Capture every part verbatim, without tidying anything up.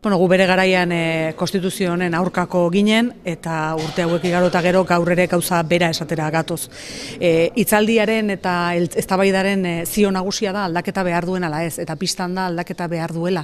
Bueno, gu bere garaian e, konstituzio honen aurkako ginen eta urte hauek igaro eta gero gaur ere gauza bera esatera gatoz. E, hitzaldiaren eta eztabaidaren e, zio nagusia da aldaketa behar duen ala ez, eta pistan da aldaketa behar duela.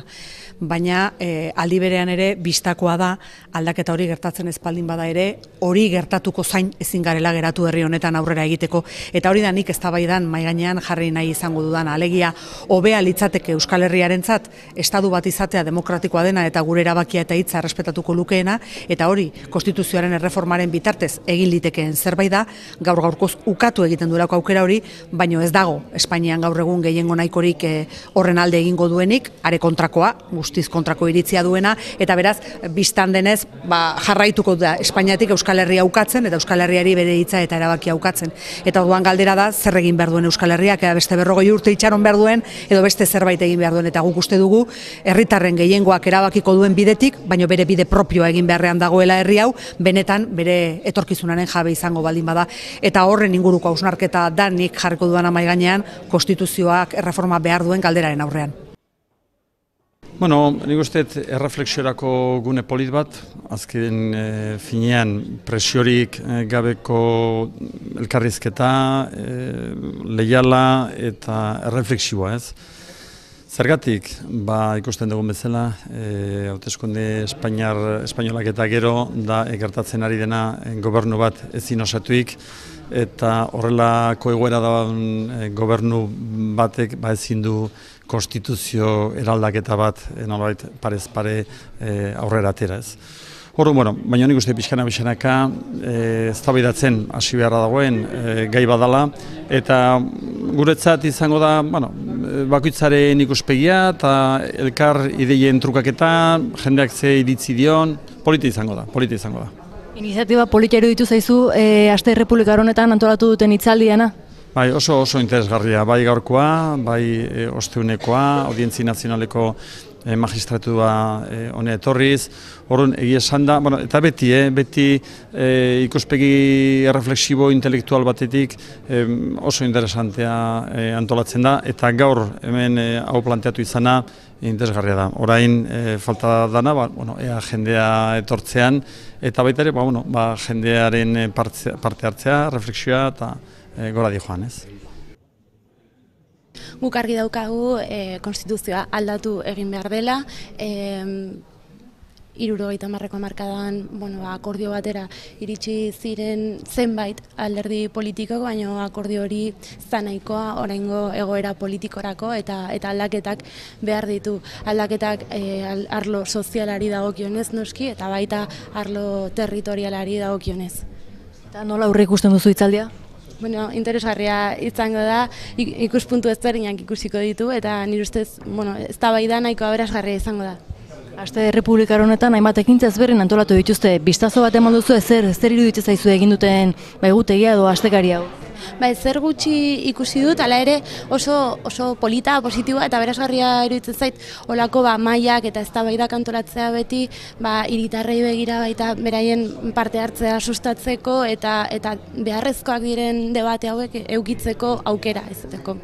Baina e, aldi berean ere bistakoa da aldaketa hori gertatzen espaldin bada ere, hori gertatuko zain ezin garela geratu herri honetan aurrera egiteko. Eta hori da nik eztabaidan mahai gainean jarri nahi izango dudan. Alegia, hobea litzateke Euskal Herriarentzat estatu bat izatea demokratikoa dena eta gure erabakia eta hitza errespetatuko lukeena, eta hori konstituzioaren erreformaren bitartez egin litekeen zerbait da, gaur gaurkoz ukatu egiten duelako aukera hori, baino ez dago Espainian gaur egun gehiengo nahikorik e, horren alde egingo duenik, are kontrakoa, guztiz kontrako iritzia duena, eta beraz, bistan denez, ba, jarraituko da Espainiatik Euskal Herria ukatzen, eta Euskal Herriari bere hitza eta erabakia ukatzen. Eta orduan galdera da, zer egin behar duen Euskal Herriak, eta beste berrogei urte itxaron behar duen, edo beste zerbait egin behar duen, eta guk uste dugu, herritarren gehiengoak erabakiko duen bidetik, baino bere bide propioa egin beharrean dagoela herri hau, benetan bere etorkizunaren jabe izango baldin bada. Eta horren inguruko hausnarketa da nik jarriko dudan mahai gainean konstituzioak erreforma behar duen galderaren aurrean. Bueno, nik uste erreflexiorako gune polit bat, azken e, finean presiorik e, gabeko elkarrizketa, e, leiala eta erreflexioa ez. Zergatik, ba, ikusten dugun bezala, e, hauteskunde Espainiar, espainolak eta gero da egertatzen ari dena gobernu bat ezin osatuik, eta horrelako egoera da e, gobernu batek ba, ezin du konstituzio eraldaketa bat e, nolabait parez pare e, aurrera atera ez. Horro, bueno, baina nik uste pixkana pixkanaka e, eztabaidatzen hasi beharra dagoen e, gai badala, eta guretzat izango da, bueno, bakoitzaren ikuspegia eta elkar ideien trukaketa, jendeak ze iritzi dion, polita izango da, polita izango da. Iniziatiba polita iruditu zaizu e, Aste Errepublika honetan antolatu duten hitzaldiana? Bai, oso oso interesgarria, bai gaurkoa, bai e, osteunekoa, Audientzi Nazionaleko e, magistratua e, hone etorriz, horren egia esan da, bueno, eta beti, eh, beti e, ikuspegi erreflexibo intelektual batetik e, oso interesantea e, antolatzen da, eta gaur hemen e, hau planteatu izana interesgarria da. Orain e, falta dana, ba, bueno, ea jendea etortzean, eta baita ere, ba, bueno, ba, jendearen parte, parte hartzea, reflexioa eta E, gora di joan, ez? Guk argi daukagu e, konstituzioa aldatu egin behar dela, e, hirurogeita hamarreko hamarkadan bueno, akordio batera iritsi ziren zenbait alderdi politikoko, baina akordio hori zanaikoa oraingo egoera politikorako eta eta aldaketak behar ditu. Aldaketak e, arlo sozialari dagokionez noski eta baita arlo territorialari dagokionez. Eta nola aurre ikusten duzu hitzaldia? Bueno, interesgarria izango da, ikuspuntu ezberdinak ikusiko ditu eta nire ustez, bueno, eztabaida nahiko aberasgarria izango da. Aste Errepublikar honetan hainbat ekintza ezberdin antolatu dituzte. Bistazo bat eman duzu ezer, zer iruditzen zaizu egin duten ba, egutegia edo astekari hau? Ba, zer gutxi ikusi dut, hala ere oso, oso polita, positiboa eta berazgarria iruditzen zait olako ba, mailak eta eztabaidak antolatzea beti ba, hiritarrei begira baita beraien parte hartzea sustatzeko eta, eta beharrezkoak diren debate hauek eukitzeko aukera izateko.